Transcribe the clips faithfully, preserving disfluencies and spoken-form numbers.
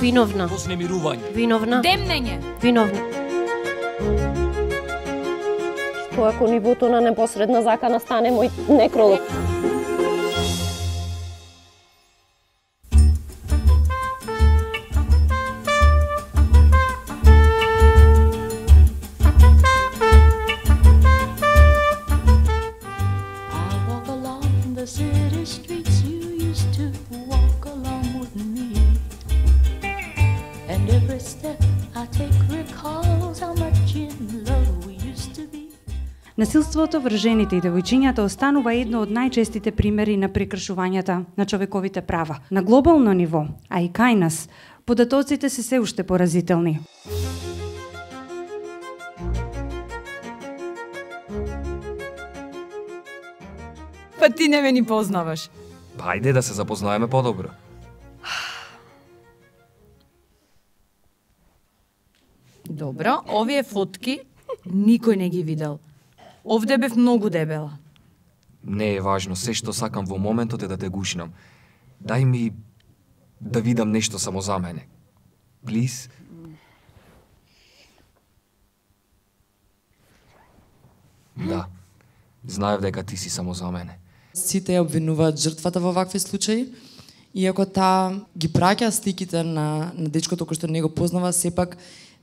Виновна. Вознемирување. Виновна. Демнење. Виновна. Што ако нивото на непосредна закана стане мој некролог? Насилството врз жените и девојчињата останува едно од најчестите примери на прекршувањата на човековите права. На глобално ниво, а и кај нас, податоците се се уште поразителни. Па ти не ме ни познаваш. Ајде да се запознаеме подобро. Добро, овие фотки никој не ги видел. Овде бев многу дебела. Не е важно, се што сакам во моментот е да те гушнам. Дај ми да видам нешто само за мене. Плиз. Да. Знаев дека ти си само за мене. Сите ја обвинуваат жртвата во вакви случаи, иако таа ги праќа сликите на, на дечкото кој што не го познава, сепак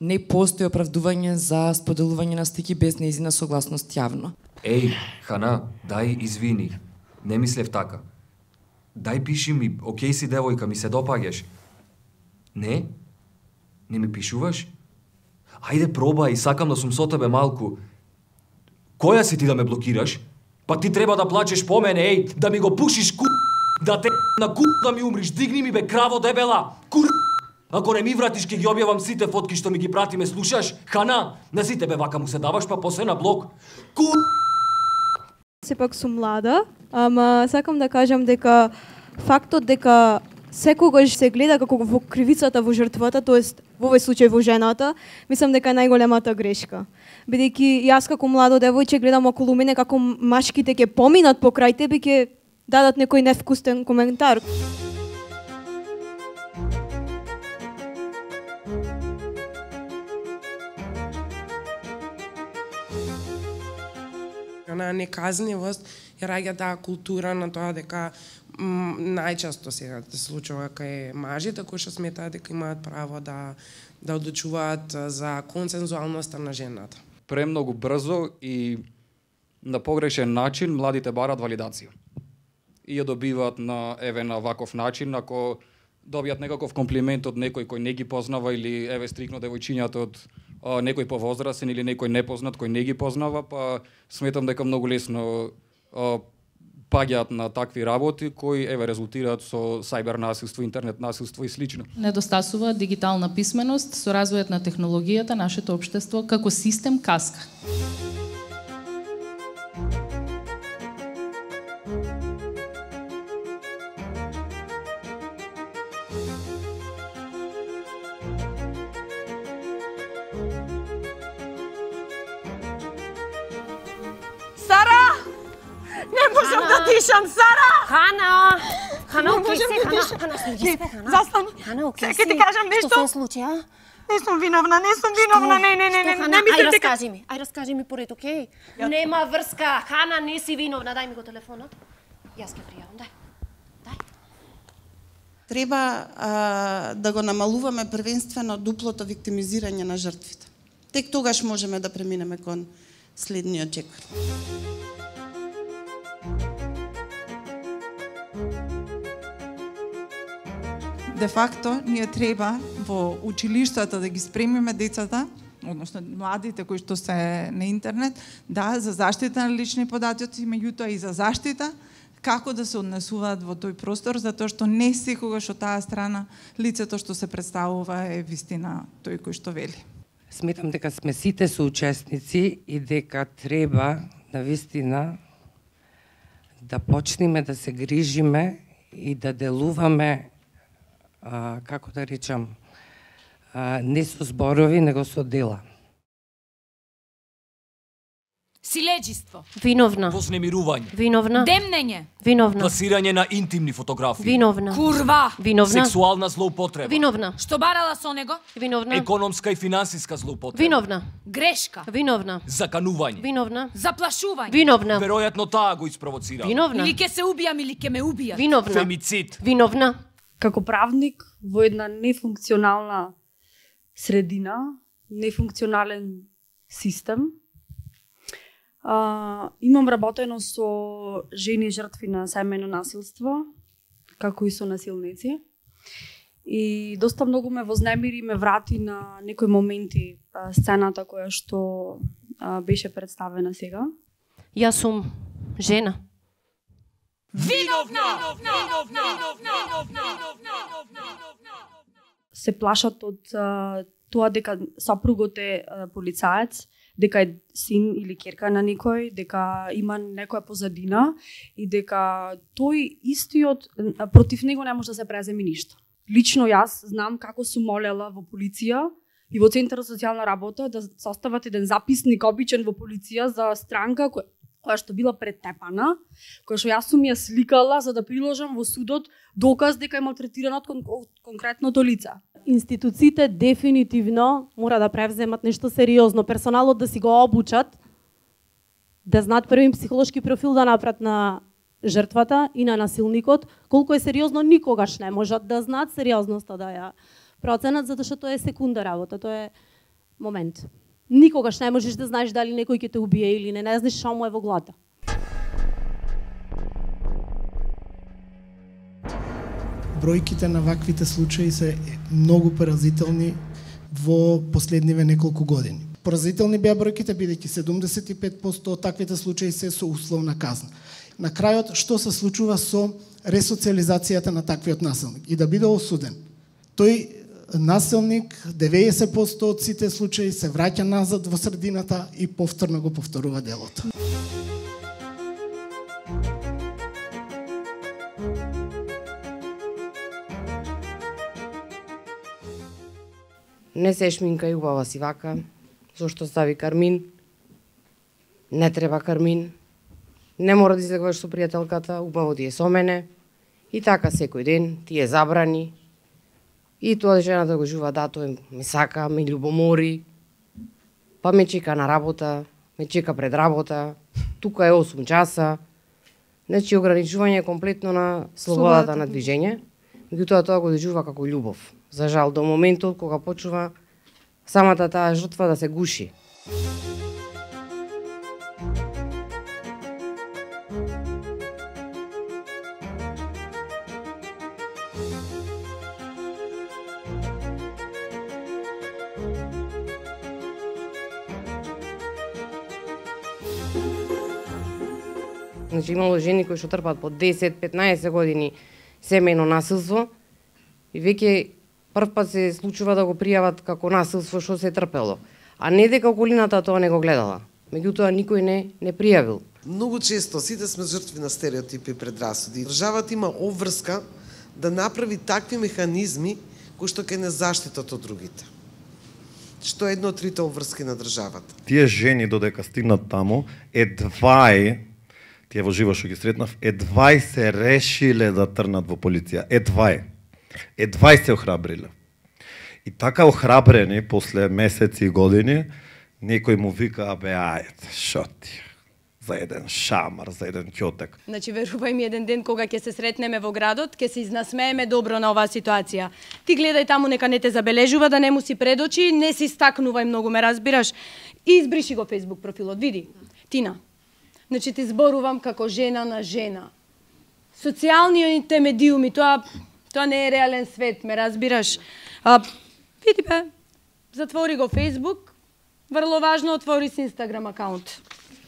не постои оправдување за споделување на слики без нејзина согласност јавно. Еј, Хана, дај извини. Не мислев така. Дај пиши ми, окей си девојка, ми се допаѓаш. Не? Не ми пишуваш? Ајде пробај, сакам да сум со тебе малку. Која си ти да ме блокираш? Па ти треба да плачеш по мене, еј, да ми го пушиш ку... Да те на ку... да ми умриш, дигни ми бе, краво дебела! Кур... Ако не ми вратиш, ке ги објавам сите фотки што ми ги прати, ме слушаш? Хана, на сите бе вака му се даваш, па после на блок. Ку... Сепак сум млада, ама сакам да кажам дека фактот дека секогаш се гледа како во кривицата во жртвата, тоест во овој случај во жената, мислам дека е најголемата грешка. Бидејќи јас како младо девојче гледам околу мене како машките ќе поминат покрај тебе, ќе дадат некој невкусен коментар. На неказнивост ја раѓа таа култура на тоа дека м, најчесто се случува кај мажите кои што сметаат дека имаат право да да одлучуваат за консензуалноста на жената. Премногу брзо и на погрешен начин младите барат валидација. И ја добиваат на еве на ваков начин, ако добијат некаков комплимент од некој кој не ги познава или еве стрикно девојчињата од а, некој повозрасен или некој непознат кој не ги познава, па сметам дека многу лесно а, паѓаат на такви работи кои еве резултираат со сајбер насилство, интернет насилство и слично. Недостасува дигитална писменост, со развојот на технологијата нашето општество како систем каска. Дишам, Сара! Хана! Хана, окей си, Хана, Хана, слуги се, Хана. Застани. Хана, окей си. Сега ти кажам нешто. Што се случи, а? Не сум виновна, не сум виновна, не, не, не, не, не мислам дека... Ај, раскажи ми, ај, раскажи ми поред, окей? Нема врска, Хана, не си виновна, дај ми го телефонот. Јас ќе пријавам, дај. Дај. Треба а, да го намалуваме првенствено дуплото виктимизирање на жртвите. Тек тогаш можеме да преминеме кон следниот чекор. Де факто, ние треба во училиштата да ги спремиме децата, односно младите кои што се на интернет, да, за заштита на лични податоци, меѓутоа и за заштита, како да се однесуваат во тој простор, затоа што не секогаш од таа страна лицето што се представува е вистина тој кој што вели. Сметам дека сме сите соучесници и дека треба на вистина да почнеме да се грижиме и да делуваме, а, како да речам, а, не со зборови, него со дела. Силеđиство. Виновна. Вознемирување. Виновна. Демнење. Виновна. Пласирање на интимни фотографии. Виновна. Курва. Виновна. Сексуална злоупотреба. Виновна. Што барала со него? Виновна. Економска и финансиска злоупотреба. Виновна. Грешка. Виновна. Заканување. Виновна. Заплашување. Виновна. Веројатно таа го испровоцирала. Виновна. Или ќе се убијам или ќе ме убијат. Виновна. Фемицид. Виновна. Како правник во една нефункционална средина, нефункционален систем, а, имам работено со жени жртви на семејно насилство, како и со насилници. И доста многу ме вознемири и ме врати на некои моменти а, сцената која што а, беше представена сега. Јас сум жена. Виновна! Се плашат од а, тоа дека сопругот е а, полицаец, дека е син или ќерка на некој, дека има некоја позадина и дека тој истиот а, против него не може да се преземи ништо. Лично јас знам како сум молела во полиција и во Центар за социјална работа да состават еден записник обичен во полиција за странка која која што била претепана, која што јас сум ја сликала за да приложам во судот доказ дека е малтретирана од кон конкретното лице. Институциите дефинитивно мора да превземат нешто сериозно, персоналот да си го обучат, да знаат првин психолошки профил да направат на жртвата и на насилникот, колку е сериозно никогаш не можат да знаат сериозноста да ја проценат, затоа што тоа е секунда работа, тоа е момент. Никогаш не можеш да знаеш дали некој ќе те убие или не, не знаеш што му е во главата. Бројките на ваквите случаи се многу поразителни во последниве неколку години. Поразителни беа бројките бидејќи седумдесет и пет проценти од таквите случаи се со условна казна. На крајот што се случува со ресоциализацијата на таквиот насилник и да биде осуден. Тој насилник, деветдесет проценти од сите случаи се враќа назад во средината и повторно го повторува делото. Не се шминка и убава си вака, зошто стави кармин, не треба кармин, не мора да излегуваш со пријателката, убаво ти е со мене, и така секој ден ти е забрани, и тоа жената го жува, да, тој ме сака, ме љубомори, па ме чека на работа, ме чека пред работа, тука е осум часа, значи ограничување комплетно на слободата на движење, меѓутоа тоа го доживува како љубов. За жал, до моментот кога почува самата таа жртва да се гуши. Значи имало жени кои што трпат по десет петнаесет години семејно насилство и веќе прв пат се случува да го пријават како насилство што се трпело, а не дека околината тоа не го гледала. Меѓутоа никој не не пријавил. Многу често сите сме жртви на стереотипи и предрасуди. Државата има обврска да направи такви механизми кои што ќе не заштитат од другите. Што е едно од трите обврски на државата. Тие жени додека стигнат таму, едва е, тие во живо што ги сретнав, едва се решиле да трнат во полиција. Едва е. Едва се охрабриле. И така охрабрени после месеци и години, некој му вика, абе, ајде, шо ти? За еден шамар, за еден ќотек. Значи, верувај ми, еден ден кога ќе се сретнеме во градот, ќе се изнасмееме добро на оваа ситуација. Ти гледај таму, нека не те забележува, да не му си пред очи, не си стакнувај многу, ме разбираш. И избриши го Facebook профилот, види. Тина, значи ти зборувам како жена на жена. Социјалните медиуми, тоа тоа не е реален свет, ме разбираш. А, види бе, затвори го Facebook, врло важно, отвори си Instagram акаунт.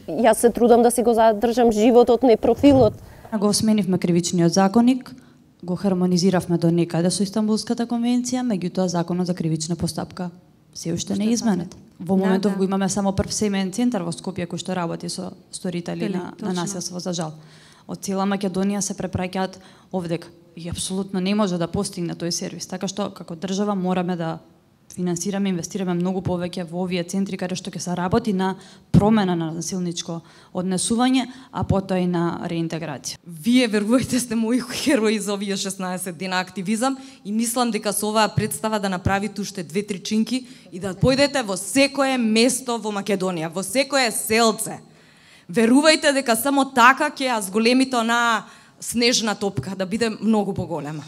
Јас се трудам да си го задржам животот, не профилот. Го сменивме кривичниот законник, го хармонизиравме до некаде со Истанбулската конвенција, меѓутоа законот за кривична постапка се уште не е изменет. Во моментов да, да. го имаме само прв семеен центар во Скопје кој што работи со сторители на, на насилство, за жал. Од цела Македонија се препраќаат овдека и апсолутно не може да постигне тој сервис, така што како држава мораме да финансираме, инвестираме многу повеќе во овие центри каде што ќе се работи на промена на насилничко однесување, а потоа и на реинтеграција. Вие, верувајте, сте мои херои за овие шеснаесет дена активизам и мислам дека со оваа представа да направите уште две-три чинки и да појдете во секое место во Македонија, во секое селце. Верувајте дека само така ќе ја зголемите онаа снежна топка да биде многу поголема.